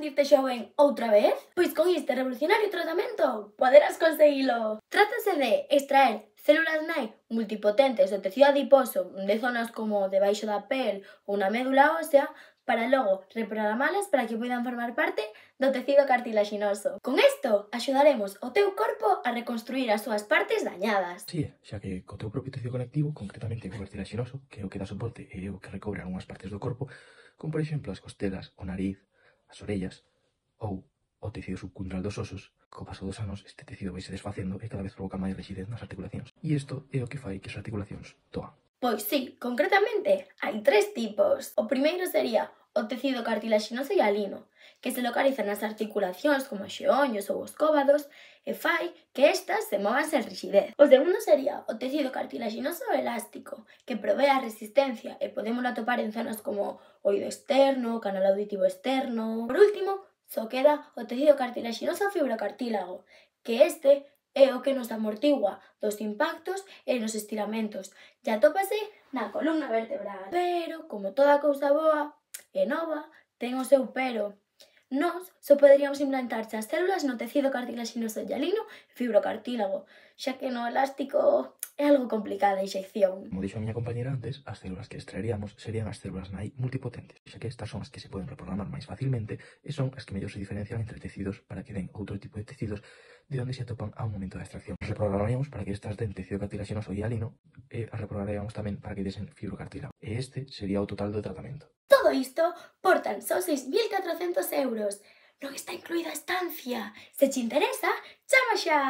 sentirte xoven outra vez? Pois con este revolucionario tratamento poderás conseguilo. Trátase de extraer células nai multipotentes do tecido adiposo de zonas como debaixo da pel ou na médula ósea para logo reprogramalas para que poidan formar parte do tecido cartilaxinoso. Con isto axudaremos o teu corpo a reconstruir as súas partes dañadas. Si, xa que co teu propio tecido conectivo, concretamente o cartilaxinoso, que é o que dá soporte e o que recobre algunhas partes do corpo, como por exemplo as costelas, o nariz, as orellas ou o tecido subcundural dos osos, co paso dos anos este tecido vai se desfacendo e cada vez provoca máis rigidez nas articulacións. E isto é o que fai que as articulacións toan. Pois sí, concretamente hai 3 tipos. O primeiro sería o tecido cartilaxinoso hialino, que se localiza nas articulacións como os xeonllos ou os cóbados e fai que estas se movan sen rixidez. O segundo sería o tecido cartilaxinoso elástico, que provee a resistencia e podemos atopar en zonas como oído externo, canal auditivo externo. Por último, só queda o tecido cartilaxinoso fibrocartílago, que este é o que nos amortigua dos impactos e nos estiramentos e atópase na columna vertebral. Pero, como toda cousa boa e nova, ten o seu pero. Nós só poderíamos implantarse as células no tecido cartilaxinoso hialino e fibrocartílago, xa que no elástico é algo complicada a inxección. Como dixo a miña compañera antes, as células que extraeríamos serían as células nai multipotentes, xa que estas son as que se poden reprogramar máis facilmente e son as que mellor se diferencian entre tecidos para que den outro tipo de tecidos de onde se atopan ao momento da extracción. As reprogramaríamos para que estas den tecido cartilaxinoso hialino e as reprogramaríamos tamén para que desen fibrocartílago. E este sería o total do tratamento. Todo isto por tan só 6.400 euros. Non está incluída a estancia. Se te interesa, chama xa!